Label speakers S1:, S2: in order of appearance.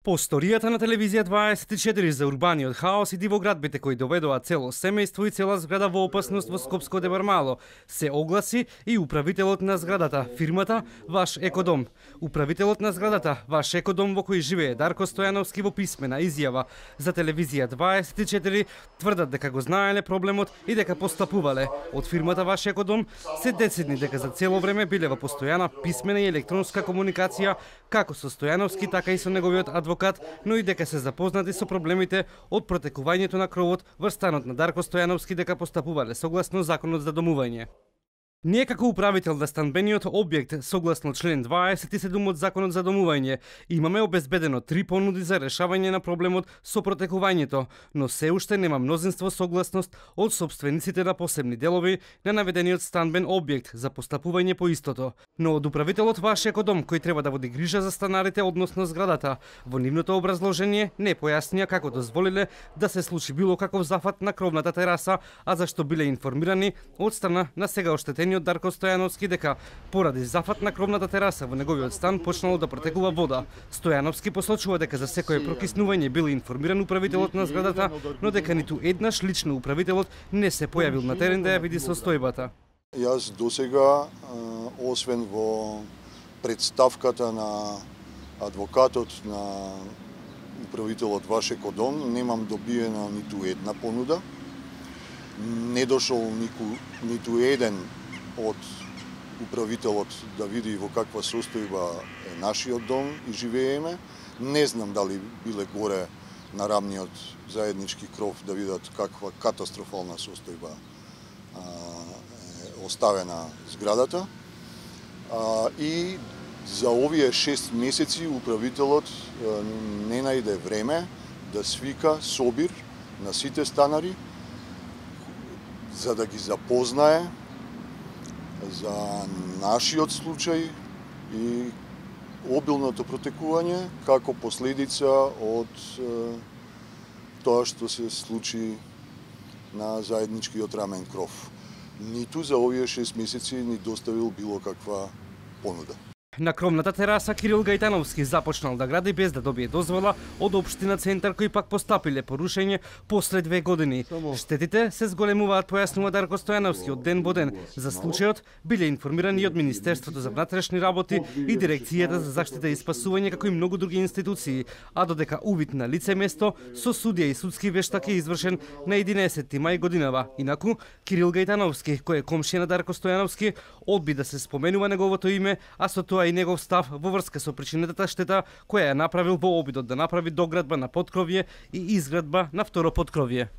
S1: По сторијата на телевизија 24 за урбаниот хаос и дивоградбите кои доведоа цело семејство и цела зграда во опасност во Скопско Дебармало, се огласи и управителот на зградата, фирмата Ваш Екодом. Управителот на зградата Ваш Екодом во кој живее Дарко Стојановски во писмена изјава за телевизија 24 тврдат дека го знаеле проблемот и дека постапувале. Од фирмата Ваш Екодом се децидни дека за цело време биле во постојана писмена и електронска комуникација како со Стојановски, така и со неговиот адвокат, но и дека се запознати со проблемите од протекувањето на кровот врз станот на Дарко Стојановски, дека постапувале согласно законот за домување. Ние како управител на станбениот објект, согласно член 27 од законот за домување, имаме обезбедено 3 понуди за решавање на проблемот со протекувањето, но се уште нема мнозинство согласност од собствениците на посебни делови на наведениот станбен објект за постапување по истото. Но од управителот Ваш Екодом, кој треба да води грижа за станарите односно зградата, во нивното образложение не појаснија како дозволиле да се случи било каков зафат на кровната тераса, а зашто биле информирани од страна на сега оштетени од Дарко Стојановски дека поради зафат на кровната тераса во неговиот стан почнало да протекува вода. Стојановски посочува дека за секое прокиснување бил информиран управителот на зградата, но дека ниту еднаш лично управителот не се појавил на терен да ја види состојбата.
S2: Јас досега, освен во представката на адвокатот на управителот Ваш Екодом, немам добиена ниту една понуда. Не дошол ниту еден од управителот да види во каква состојба е нашиот дом и живееме. Не знам дали биле горе на рамниот заеднички кров да видат каква катастрофална состојба е оставена зградата. И за овие 6 месеци управителот не најде време да свика собир на сите станари за да ги запознае за нашиот случај и обилното протекување како последица од тоа што се случи на заедничкиот рамен кров. Ниту за овие 6 месеци ни доставил било каква понуда.
S1: На кровната тераса Кирил Гајтановски започнал да гради без да добие дозвола од општина Центар, кои пак постапиле по рушење после 2 години. Штетите се зголемуваат, појаснува Дарко Стојановски, од ден во ден. За случајот биле информирани и од Министерството за внатрешни работи и Дирекцијата за заштита и спасување, како и многу други институции, а додека увид на лице место со судија и судски вештак е извршен на 11 мај годинава. Инаку Кирил Гајтановски, кој е комшија на Дарко Стојановски, одби да се споменува неговото име, а со тоа и негов став во врска со причинетата штета која ја направил во обидот да направи доградба на поткровје и изградба на второ поткровје.